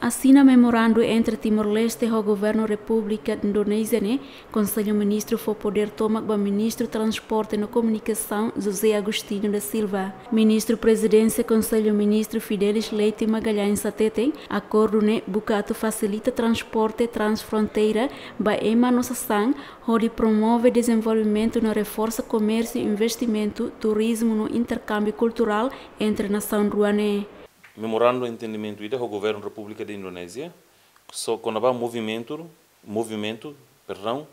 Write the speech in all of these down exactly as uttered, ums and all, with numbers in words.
Asina memorandu entre Timor-Leste ho Governu Repúblika Indonézia ne'e, Konsellu Ministru fó podér tomak ba Ministru Transporte no Komunikasaun, José Agostinho da Silva. Ministru Prezidénsia Konsellu Ministru Fidelis Leite Magalhães hateten, akordu ne'e buka atu fasilita transporte transfronteira ba ema no sasán, hodi promove dezenvolvimentu no reforsa komérsiu, investimentu, turizmu no interkámbiu kulturál entre nasaun rua ne'e. Memorandu entendimentu ida ho Governu Repúblika de Indonézia, so kona-ba movimentu, movimentu, perdão,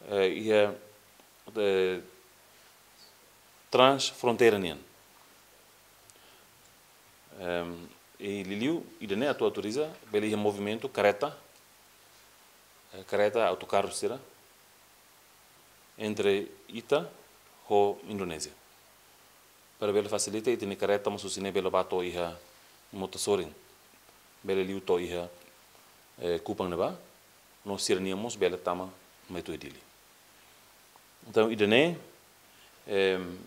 eh, iha, eh, transfronteira nian. Em, i liuliu ida-ne'e atu autoriza bele iha movimentu kareta, eh, kareta autokarru sira entre ita ho Indonézia. Para bele fasilita ita-nia kareta mós husi ne'e bele bá to'o iha Mota Sorin. Bele liu to'o iha, eh, Kupang ne'ebá, no sira-nian mós bele tama mai to'o Dili. Entaun, ida-ne'e, em,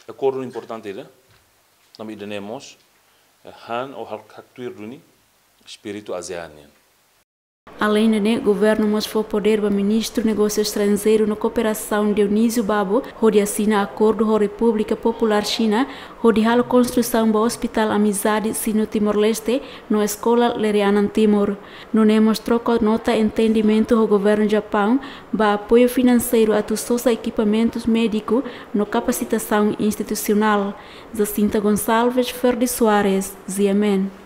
akordu importante ida, tanba ida-ne'e mós, eh, han ou hak-, haktuir duni espíritu ASEAN nian. Aleinde ne'e, Governu mós fó podér ba Ministru Negósiu Estranjeiru no Kooperasaun Dionísio Babo, hodi asina akordu ho Repúblika Populár Xina, hodi halo konstrusaun ba Hospital Amizade Sino Timor-Leste, no Eskola Lere Anan Timor. Nune'e mós troka nota entendimentu ho Governu Japaun, ba apoiu finanseiru atu sosa ekipamentus médiku no kapasitasaun institusionál. Jacinta Gonçalves, Ferdi Soares, G M N.